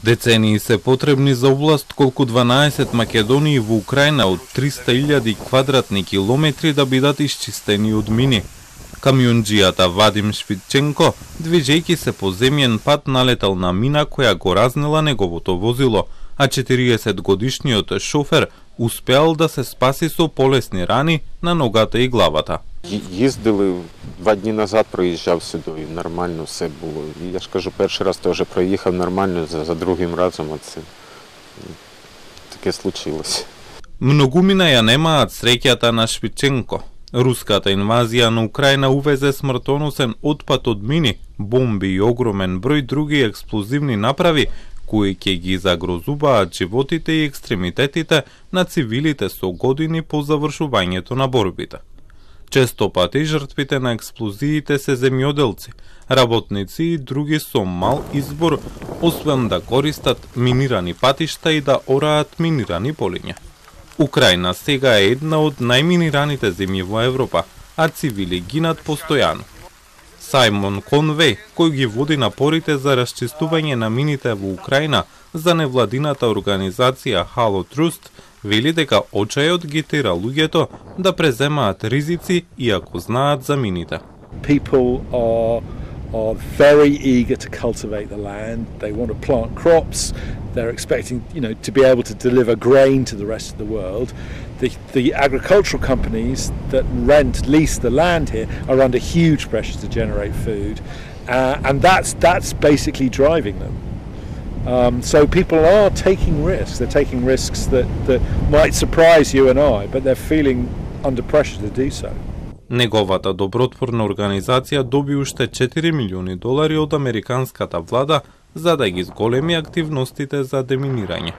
Децении се потребни за област колку 12 Македонии во Украина од 300.000 квадратни километри да бидат исчистени од мини. Камионџијата Вадим Швидченко, движејќи се по земјен пат, налетал на мина која го разнела неговото возило, а 40-годишниот шофер успеал да се спаси со полесни рани на ногата и главата. Їздили 2 дні назад, проїжджав сюди, і нормально все було. І я ж кажу, перший раз теж проїхав нормально, за другим разом це таке случилось. Многумина ја немаат среќата на Швидченко. Руската инвазија на Украина увезе смртоносен отпад од мини, бомби и огромен број други експлозивни направи, кои ќе ги загрозуваат животите и екстремитетите на цивилите со години по завршувањето на борбите. Често пати жртвите на експлозиите се земјоделци, работници и други со мал избор, освен да користат минирани патишта и да ораат минирани полиња. Украина сега е една од најминираните земји во Европа, а цивили гинат постојано. Сајмон Конвеј, кој ги води напорите за расчистување на мините во Украина за невладината организација Halo Trust, вели дека очајот ги тера луѓето да преземаат ризици иако знаат за мините. People are very eager to cultivate the land. They want to plant crops. They're expecting, to be able to deliver grain to the rest of the world. The agricultural companies that lease the land here are under huge pressure to generate food, and that's basically driving them. So people are taking risks. They're taking risks that might surprise you and I, but they're feeling under pressure to do so. Неговата добротворна организација доби уште $4 милиони од американската влада за да ги зголеми активностите за деминирање.